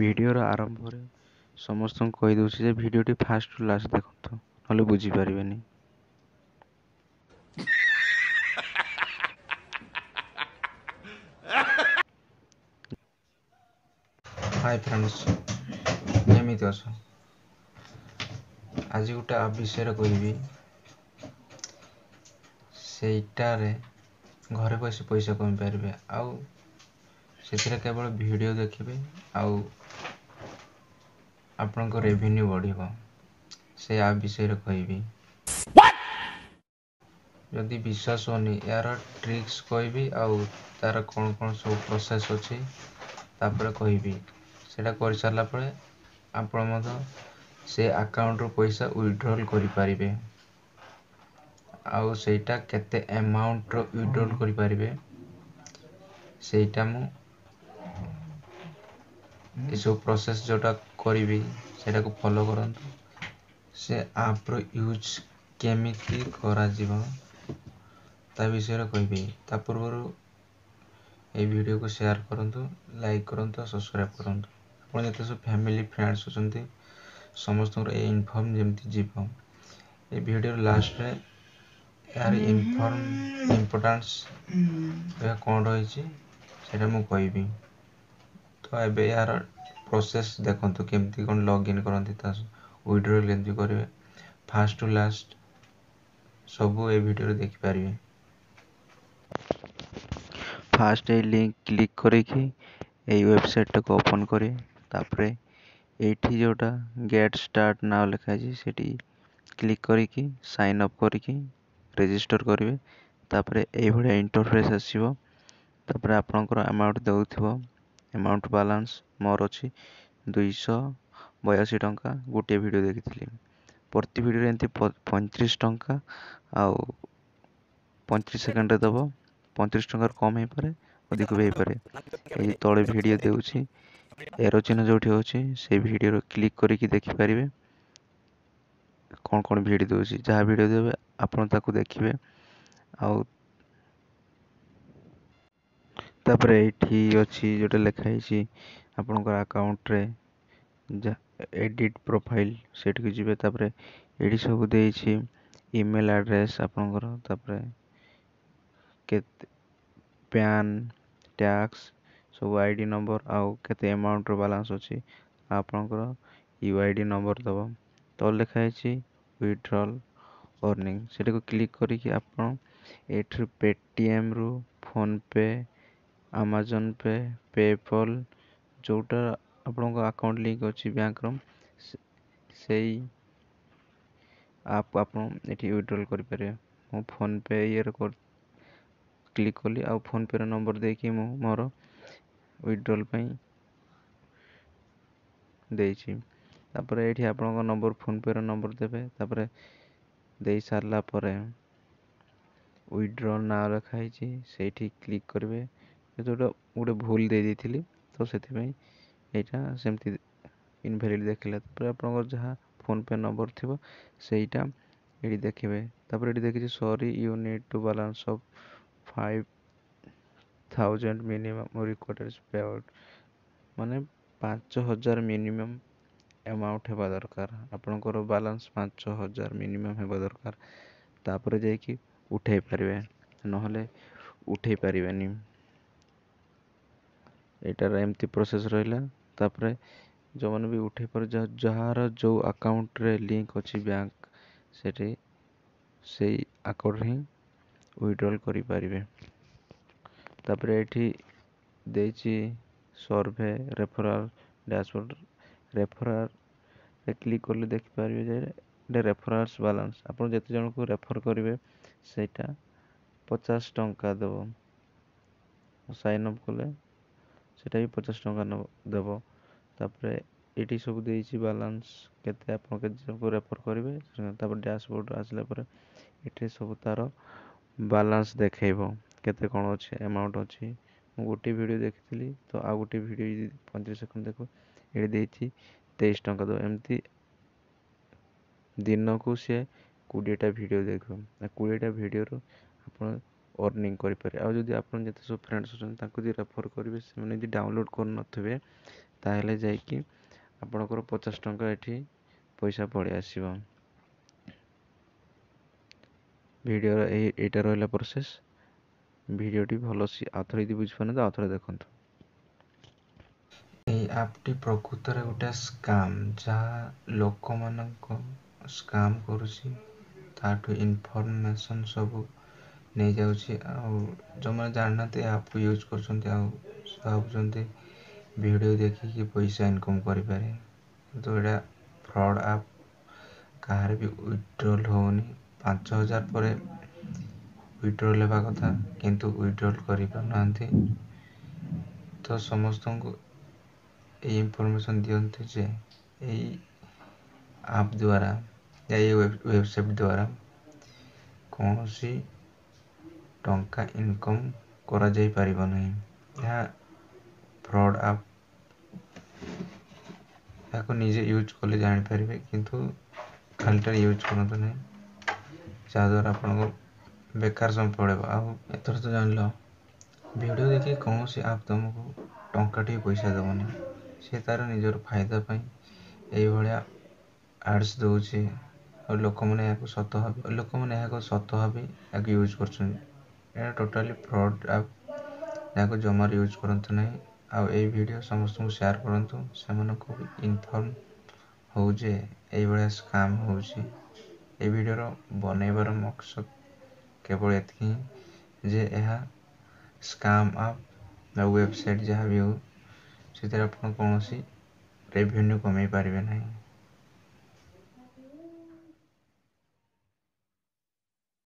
ଭିଡ଼ିଓର ଆରମ୍ଭରେ ସମସ୍ତଙ୍କୁ କହିଦେଉଛି ଯେ ଭିଡ଼ିଓଟି ଫାଷ୍ଟରୁ ଲାଷ୍ଟ ଦେଖନ୍ତୁ, ନହେଲେ ବୁଝିପାରିବେନି। ହାଇ ଫ୍ରେଣ୍ଡସ୍, କେମିତି ଅଛ? ଆଜି ଗୋଟେ ଆପ୍ ବିଷୟରେ କହିବି, ସେଇଟାରେ ଘରେ ବସି ପଇସା କମାଇ ପାରିବେ। ଆଉ ସେଥିରେ କେବଳ ଭିଡ଼ିଓ ଦେଖିବେ ଆଉ ଆପଣଙ୍କ ରେଭିନ୍ୟୁ ବଢ଼ିବ। ସେ ଆପ୍ ବିଷୟରେ କହିବି। ଯଦି ବିଶ୍ୱାସ ହେଉନି, ଏହାର ଟ୍ରିକ୍ସ କହିବି ଆଉ ତା'ର କ'ଣ କ'ଣ ସବୁ ପ୍ରୋସେସ୍ ଅଛି ତାପରେ କହିବି। ସେଇଟା କରିସାରିଲା ପରେ ଆପଣ ମଧ୍ୟ ସେ ଆକାଉଣ୍ଟରୁ ପଇସା ୱିଡ୍ରଲ୍ କରିପାରିବେ, ଆଉ ସେଇଟା କେତେ ଆମାଉଣ୍ଟର ୱିଡ୍ରଲ୍ କରିପାରିବେ ସେଇଟା ମୁଁ ଏସବୁ ପ୍ରୋସେସ୍ ଯେଉଁଟା କରିବି ସେଇଟାକୁ ଫଲୋ କରନ୍ତୁ। ସେ ଆପ୍ର ୟୁଜ୍ କେମିତି କରାଯିବ ତା ବିଷୟରେ କହିବି। ତା ପୂର୍ବରୁ ଏଇ ଭିଡ଼ିଓକୁ ସେୟାର କରନ୍ତୁ, ଲାଇକ୍ କରନ୍ତୁ ଆଉ ସବସ୍କ୍ରାଇବ୍ କରନ୍ତୁ। ଆପଣ ଯେତେ ସବୁ ଫ୍ୟାମିଲି ଫ୍ରେଣ୍ଡସ୍ ଅଛନ୍ତି ସମସ୍ତଙ୍କର ଏ ଇନଫର୍ମ ଯେମିତି ଯିବ। ଏ ଭିଡ଼ିଓର ଲାଷ୍ଟରେ ଏହାର ଇନଫର୍ମ ଇମ୍ପୋର୍ଟାନ୍ସ ଏହା କ'ଣ ରହିଛି ସେଇଟା ମୁଁ କହିବି। ତ ଏବେ ଏହାର ପ୍ରୋସେସ୍ ଦେଖନ୍ତୁ, କେମିତି କ'ଣ ଲଗ୍ଇନ୍ କରନ୍ତି, ତା ୱିଡ୍ରଲ୍ କେମିତି କରିବେ, ଫାଷ୍ଟ ଟୁ ଲାଷ୍ଟ ସବୁ ଏ ଭିଡ଼ିଓରେ ଦେଖିପାରିବେ। ଫାଷ୍ଟ ଏଇ ଲିଙ୍କ କ୍ଲିକ୍ କରିକି ଏଇ ୱେବସାଇଟ୍ଟାକୁ ଓପନ୍ କରିବେ। ତାପରେ ଏଇଠି ଯେଉଁଟା ଗେଟ୍ ଷ୍ଟାର୍ଟ now ଲେଖା ହେଇଛି ସେଠି କ୍ଲିକ୍ କରିକି ସାଇନ୍ ଅପ୍ କରିକି ରେଜିଷ୍ଟର କରିବେ। ତାପରେ ଏଇଭଳିଆ ଇଣ୍ଟରଫେସ୍ ଆସିବ। ତାପରେ ଆପଣଙ୍କର ଆମାଉଣ୍ଟ ଦେଉଥିବ, ଆମାଉଣ୍ଟ ବାଲାନ୍ସ ମୋର ଅଛି 282 ଟଙ୍କା। ଗୋଟିଏ ଭିଡ଼ିଓ ଦେଖିଥିଲି, ପ୍ରତି ଭିଡ଼ିଓରେ ଏମିତି 35 ଟଙ୍କା ଆଉ 35 ସେକେଣ୍ଡରେ ଦେବ। 35 ଟଙ୍କାରୁ କମ୍ ହେଇପାରେ, ଅଧିକ ବି ହେଇପାରେ। ଏଇ ତଳେ ଭିଡ଼ିଓ ଦେଉଛି, ଏରୋ ଚିହ୍ନ ଯେଉଁଠି ଅଛି ସେଇ ଭିଡ଼ିଓରେ କ୍ଲିକ୍ କରିକି ଦେଖିପାରିବେ କ'ଣ କ'ଣ ଭିଡ଼ିଓ ଦେଉଛି। ଯାହା ଭିଡ଼ିଓ ଦେବେ ଆପଣ ତାକୁ ଦେଖିବେ। ଆଉ ତାପରେ ଏଇଠି ଅଛି ଯେଉଁଟା ଲେଖା ହେଇଛି ଆପଣଙ୍କର ଆକାଉଣ୍ଟରେ ଏଡ଼ିଟ୍ ପ୍ରୋଫାଇଲ୍, ସେଇଠିକୁ ଯିବେ। ତାପରେ ଏଇଠି ସବୁ ଦେଇଛି ଇମେଲ୍ ଆଡ୍ରେସ୍ ଆପଣଙ୍କର, ତାପରେ କେତେ ପ୍ୟାନ୍, ଟ୍ୟାକ୍ସ, ସବୁ I D number ଆଉ କେତେ ଆମାଉଣ୍ଟର ବାଲାନ୍ସ ଅଛି, ଆପଣଙ୍କର you I D number ଦେବ। ତଳେ ଲେଖା ହେଇଛି ୱିଡ୍ରଲ୍ ଅର୍ଣ୍ଣିଂ, ସେଟାକୁ କ୍ଲିକ୍ କରିକି ଆପଣ ଏଇଥିରୁ ପେଟିଏମ୍ରୁ ଫୋନ୍ପେ, ଆମାଜନ୍ ପେ, ପେପଲ୍ ଯେଉଁଟା ଆପଣଙ୍କ ଆକାଉଣ୍ଟ ଲିଙ୍କ୍ ଅଛି ବ୍ୟାଙ୍କର ସେଇ ଆପ୍ ଆପଣ ଏଠି ୱିଡ୍ରଲ୍ କରିପାରିବେ। ମୁଁ ଫୋନ୍ପେ ଇଏରେ କ୍ଲିକ୍ କଲି ଆଉ ଫୋନ୍ପେର ନମ୍ବର ଦେଇକି ମୁଁ ମୋର ୱିଡ୍ରଲ୍ ପାଇଁ ଦେଇଛି। ତାପରେ ଏଇଠି ଆପଣଙ୍କ ନମ୍ବର, ଫୋନ୍ପେର ନମ୍ବର ଦେବେ। ତାପରେ ଦେଇ ସାରିଲା ପରେ ୱିଡ୍ରଲ୍ ନାଁ ଲେଖା ହେଇଛି ସେଇଠି କ୍ଲିକ୍ କରିବେ। ଯେଉଁଟା ଗୋଟେ ଭୁଲ ଦେଇ ଦେଇଥିଲି ତ ସେଥିପାଇଁ ଏଇଟା ସେମିତି ଇନଭ୍ୟାଲିଡ଼ ଦେଖିଲା। ତାପରେ ଆପଣଙ୍କର ଯାହା ଫୋନ୍ପେ ନମ୍ବର ଥିବ ସେଇଟା ଏଇଠି ଦେଖିବେ। ତାପରେ ଏଠି ଦେଖିଛି sorry you need to balance of 5000 minimum required pay out, ମାନେ 5000 ମିନିମମ୍ ଆମାଉଣ୍ଟ ହେବା ଦରକାର। ଆପଣଙ୍କର ବାଲାନ୍ସ 5000 ମିନିମମ୍ ହେବା ଦରକାର, ତାପରେ ଯାଇକି ଉଠେଇ ପାରିବେ, ନହେଲେ ଉଠେଇ ପାରିବେନି। ଏଇଟାର ଏମିତି ପ୍ରୋସେସ୍ ରହିଲା। ତାପରେ ଯେଉଁମାନେ ବି ଉଠେଇ ପାରୁ, ଯାହାର ଯେଉଁ ଆକାଉଣ୍ଟରେ ଲିଙ୍କ ଅଛି ବ୍ୟାଙ୍କ, ସେଠି ସେଇ ଆକାଉଣ୍ଟରେ ହିଁ ୱିଡ୍ରଲ୍ କରିପାରିବେ। ତାପରେ ଏଇଠି ଦେଇଛି ସର୍ଭେ ରେଫରାଲ୍ ଡ୍ୟାସବୋର୍ଡ଼, ରେଫରାଲ୍ରେ କ୍ଲିକ୍ କଲେ ଦେଖିପାରିବେ ଯେ ଏଇଟା ରେଫରାଲ୍ସ ବାଲାନ୍ସ। ଆପଣ ଯେତେ ଜଣଙ୍କୁ ରେଫର୍ କରିବେ ସେଇଟା 50 ଟଙ୍କା ଦେବ। ସାଇନ୍ ଅପ୍ କଲେ ସେଇଟା ବି 50 ଟଙ୍କା ଦେବ। ତାପରେ ଏଇଠି ସବୁ ଦେଇଛି ବାଲାନ୍ସ କେତେ ଆପଣ କେତେ ଜଣଙ୍କୁ ରେଫର୍ କରିବେ। ତାପରେ ଡ୍ୟାସବୋର୍ଡ଼ ଆସିଲା ପରେ ଏଠି ସବୁ ତା'ର ବାଲାନ୍ସ ଦେଖେଇବ, କେତେ କ'ଣ ଅଛି ଆମାଉଣ୍ଟ ଅଛି। ମୁଁ ଗୋଟିଏ ଭିଡ଼ିଓ ଦେଖିଥିଲି ତ ଆଉ ଗୋଟିଏ ଭିଡ଼ିଓ 35 ସେକେଣ୍ଡ ଦେଖୁ ଏଠି ଦେଇଛି 23 ଟଙ୍କା ଦେବ। ଏମିତି ଦିନକୁ ସିଏ 20ଟା ଭିଡ଼ିଓ ଦେଖିବ, 20ଟା ଭିଡ଼ିଓରୁ ଆପଣ ଅର୍ଣ୍ଣିଂ କରିପାରିବେ। ଆଉ ଯଦି ଆପଣ ଯେତେ ସବୁ ଫ୍ରେଣ୍ଡସ୍ ଅଛନ୍ତି ତାଙ୍କୁ ଯଦି ରେଫର୍ କରିବେ, ସେମାନେ ଯଦି ଡାଉନଲୋଡ଼୍ କରିନଥିବେ ତାହେଲେ ଯାଇକି ଆପଣଙ୍କର 50 ଟଙ୍କା ଏଠି ପଇସା ପଳେଇ ଆସିବ। ଭିଡ଼ିଓର ଏଇଟା ରହିଲା ପ୍ରୋସେସ୍। ଭିଡ଼ିଓଟି ଭଲ ଆଉଥରେ ଯଦି ବୁଝିପାରୁନାହାନ୍ତି, ଆଉଥରେ ଦେଖନ୍ତୁ। ଏଇ ଆପ୍ଟି ପ୍ରକୃତରେ ଗୋଟେ ସ୍କାମ୍, ଯାହା ଲୋକମାନଙ୍କ ସ୍କାମ୍ କରୁଛି, ତାଠୁ ଇନଫର୍ମେସନ୍ ସବୁ ନେଇଯାଉଛି। ଆଉ ଯେଉଁମାନେ ଜାଣିନାହାନ୍ତି, ଏ ଆପ୍କୁ ୟୁଜ୍ କରୁଛନ୍ତି ଆଉ ଭାବୁଛନ୍ତି ଭିଡ଼ିଓ ଦେଖିକି ପଇସା ଇନକମ୍ କରିପାରିବେ, କିନ୍ତୁ ଏଇଟା ଫ୍ରଡ଼୍ ଆପ୍। କାହାର ବି ୱିଡ୍ରଲ୍ ହେଉନି। 5000 ପରେ ୱିଡ୍ରଲ୍ ହେବା କଥା, କିନ୍ତୁ ୱିଡ୍ରଲ୍ କରିପାରୁନାହାନ୍ତି। ତ ସମସ୍ତଙ୍କୁ ଏଇ ଇନଫର୍ମେସନ୍ ଦିଅନ୍ତୁ ଯେ ଏଇ ଆପ୍ ଦ୍ୱାରା, ଏଇ ୱେବସାଇଟ୍ ଦ୍ୱାରା କୌଣସି ଟଙ୍କା ଇନକମ୍ କରାଯାଇପାରିବ ନାହିଁ। ଏହା ଫ୍ରଡ଼୍ ଆପ୍। ଏହାକୁ ନିଜେ ୟୁଜ୍ କଲେ ଜାଣିପାରିବେ, କିନ୍ତୁ ଖାଲିଟାରେ ୟୁଜ୍ କରନ୍ତୁ ନାହିଁ, ଯାହାଦ୍ୱାରା ଆପଣଙ୍କ ବେକାର ସମୟ ପଳେଇବ। ଆଉ ଏଥର ତ ଜାଣିଲ, ଭିଡ଼ିଓ ଦେଖି କୌଣସି ଆପ୍ ତୁମକୁ ଟଙ୍କାଟିଏ ପଇସା ଦେବନି। ସେ ତା'ର ନିଜର ଫାଇଦା ପାଇଁ ଏଇଭଳିଆ ଆଡ଼୍ସ ଦେଉଛି, ଆଉ ଲୋକମାନେ ଏହାକୁ ସତ ଭାବି ଏହାକୁ ୟୁଜ୍ କରୁଛନ୍ତି। ଏହା ଟୋଟାଲି ଫ୍ରଡ଼୍ ଆପ୍, ଏହାକୁ ଜମାରୁ ୟୁଜ୍ କରନ୍ତୁ ନାହିଁ। ଆଉ ଏଇ ଭିଡ଼ିଓ ସମସ୍ତଙ୍କୁ ସେୟାର କରନ୍ତୁ, ସେମାନଙ୍କୁ ବି ଇନଫର୍ମ ହଉ ଯେ ଏଇଭଳିଆ ସ୍କାମ୍ ହେଉଛି। ଏଇ ଭିଡ଼ିଓର ବନେଇବାର ମକସଦ କେବଳ ଏତିକି ହିଁ ଯେ ଏହା ସ୍କାମ୍ ଆପ୍ ବା ୱେବସାଇଟ୍ ଯାହା ବି ହେଉ, ସେଥିରେ ଆପଣ କୌଣସି ରେଭିନ୍ୟୁ କମେଇ ପାରିବେ ନାହିଁ।